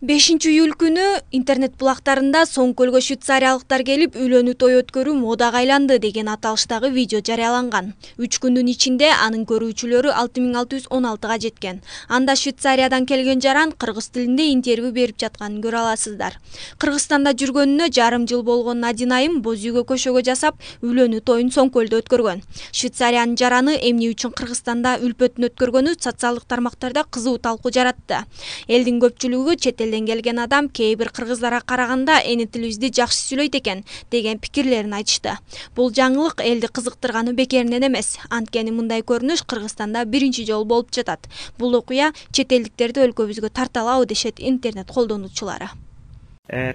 5-июль күнү интернет булактарында Соң-Көлгө швейцариялыктар келип үйлөнүү той өткөрүү модага айланды деген аталыштагы видео жарыяланган. 3 күндүн ичинде анын көрүүчүлөрү 6616га жеткен. Анда Швейцариядан келген жаран кыргыз тилинде интервью берип жатканын көрө аласыздар. Кыргызстанда жүргөнүнө жарым жыл болгон Надин айым боз үйгө көшөгө жасап, үйлөнүү тоюн Соң-Көлдө өткөргөн. Швейцариянын жараны эмне үчүн Кыргызстанда үлпөтүн өткөргөнү социалдык тармактарда кызуу талкуу жаратты. Элдин көпчүлүгү чет элден келген адам кээ бир кыргыздарга караганда эне тилибизди жакшы сүйлөйт экен деген пикирлерин айтышты. Бул жаңылык элди кызыктырганы бекеринен эмес. Анткени мындай көрүнүш Кыргызстанда биринчи жолу болуп жатат. Бул окуя чет элдиктерди өлкөбүзгө тарталабы дешет интернет колдонуучулары.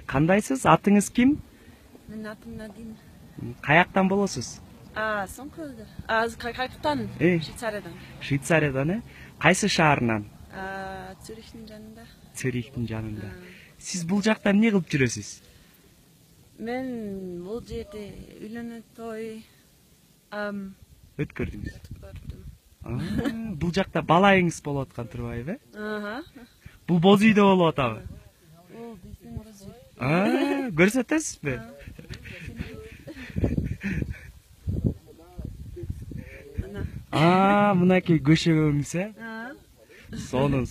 Кандайсыз? Атыңыз ким? Менин атым Надин. Каяктан болосуз? Соң-Көлдө. Каяктан? Швейцариядан. Швейцариядан, Кайсы шаарынан? Цюрихтин жанында. Цюрихтин жанында. Сиз бул жакта эмне кылып жүрөсүз? Мен бул жерде үйлөнүү той өткөрдүңүз. Бул жакта балайыңыз болуп аткан турбайбы? Бул боз үйдө болуп атабы? Бул биздин боз үй. Көрсөтөсүзбү? Мынакей көшөгөңүз, Сонун.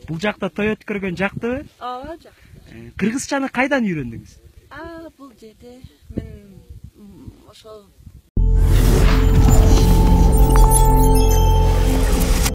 Бул жакта той өткөргөн жактыбы? Ооба, жакты. Кыргызчаны кайдан үйрөндүңүз? Бул жерде мен ошол